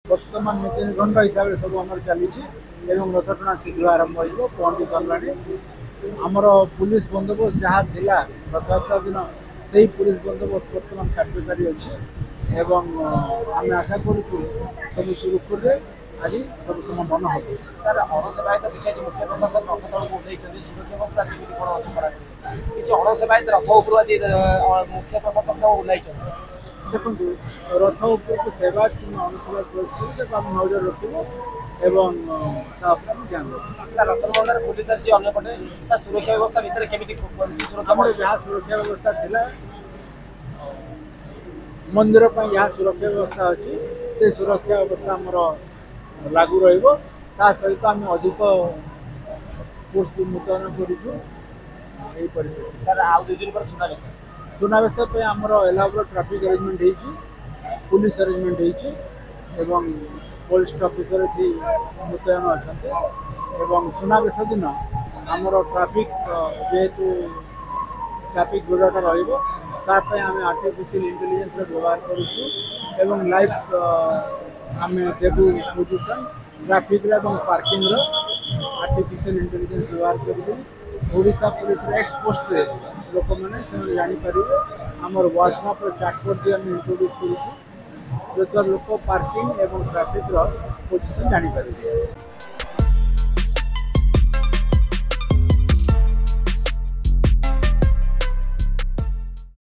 ବର୍ତ୍ତମାନ ନୀତି ନିର୍ଘଣ୍ଟ ହିସାବରେ ସବୁ ଆମର ଚାଲିଛି ଏବଂ ରଥଟଣା ଶୀଘ୍ର ଆରମ୍ଭ ହୋଇଯିବ। ପହଞ୍ଚି ସରିଲାଣି। ଆମର ପୁଲିସ ବନ୍ଦୋବସ୍ତ ଯାହା ଥିଲା ରଥଯାତ୍ରା ଦିନ, ସେଇ ପୁଲିସ ବନ୍ଦୋବସ୍ତ ବର୍ତ୍ତମାନ କାର୍ଯ୍ୟକାରୀ ଅଛି ଏବଂ ଆମେ ଆଶା କରୁଛୁ ସବୁ ସୁରୁଖୁରୁରେ ଆଜି ସବୁ ସମାପନ ହେବ। ସାର୍, ଅଣସେବାୟତ କିଛି ଆଜି ମୁଖ୍ୟ ପ୍ରଶାସକ ରଥ ତଳକୁ ଓହ୍ଲାଇଛନ୍ତି। ସୁରକ୍ଷା ବ୍ୟବସ୍ଥା କେମିତି କ'ଣ ଅଛି? କିଛି ଅଣସେବାୟତ ରଥ ଉପରୁ ଆଜି ମୁଖ୍ୟ ପ୍ରଶାସକ ଓହ୍ଲାଇଛନ୍ତି। ଦେଖନ୍ତୁ, ରଥ ଉପରକୁ ସେବାୟତ କିମ୍ବା ଅଣସେବାୟତ ପ୍ରବେଶ କଲେ ତାକୁ ଆମେ ନଜର ରଖିବୁ ଏବଂ ତା ଉପରେ ଆମେ ଧ୍ୟାନ ଦେବୁ। ସାର୍, ରତ୍ନଭଣ୍ଡାର ଖୋଲି ସାରିଛି। ଅନ୍ୟପଟେ ସାର୍, ସୁରକ୍ଷା ବ୍ୟବସ୍ଥା ଭିତରେ କେମିତି ସୁରକ୍ଷା? ଆମର ଯାହା ସୁରକ୍ଷା ବ୍ୟବସ୍ଥା ଥିଲା, ମନ୍ଦିର ପାଇଁ ଯାହା ସୁରକ୍ଷା ବ୍ୟବସ୍ଥା ଅଛି, ସେ ସୁରକ୍ଷା ବ୍ୟବସ୍ଥା ଆମର ଲାଗୁ ରହିବ। ତା ସହିତ ଆମେ ଅଧିକ ଫୋର୍ସ ବି ମୁତୟନ କରିଛୁ ଏହି ପରିପ୍ରେକ୍ଷୀରେ। ସାର୍, ଆଉ 2 ଦିନ ପରେ ସୁନାବେଶ। ସୁନାବେଶ ପାଇଁ ଆମର ଏଲାବୋରେଟ୍ ଟ୍ରାଫିକ୍ ଆରେଞ୍ଜମେଣ୍ଟ ହେଇଛି, ପୁଲିସ ଆରେଞ୍ଜମେଣ୍ଟ ହେଇଛି ଏବଂ ପୋଲିସ ଅଫିସର ଏଠି ମୁତୟନ ଅଛନ୍ତି। ଏବଂ ସୁନାବେଶ ଦିନ ଆମର ଟ୍ରାଫିକ୍, ଯେହେତୁ ଟ୍ରାଫିକ୍ ଭିଡ଼ଟା ରହିବ, ତା ପାଇଁ ଆମେ ଆର୍ଟିଫିସିଆଲ ଇଣ୍ଟେଲିଜେନ୍ସର ବ୍ୟବହାର କରୁଛୁ ଏବଂ ଲାଇଭ୍ ଆମେ ଦେବୁ ପୋଜିସନ୍ ଟ୍ରାଫିକ୍ର ଏବଂ ପାର୍କିଂର। ଆର୍ଟିଫିସିଆଲ ଇଣ୍ଟେଲିଜେନ୍ସ ବ୍ୟବହାର କରିକି ଓଡ଼ିଶା ପୋଲିସର ଏକ୍ସ ପୋଷ୍ଟରେ ଲୋକମାନେ ସେମାନେ ଜାଣିପାରିବେ। ଆମର ହ୍ୱାଟ୍ସଆପ୍ର ଚାଟବୋର୍ଡ଼ ବି ଆମେ ଇଣ୍ଟ୍ରୋଡ୍ୟୁସ୍ କରୁଛୁ, ଯଦ୍ୱାରା ଲୋକ ପାର୍କିଂ ଏବଂ ଟ୍ରାଫିକ୍ର ପୋଜିସନ୍ ଜାଣିପାରିବେ।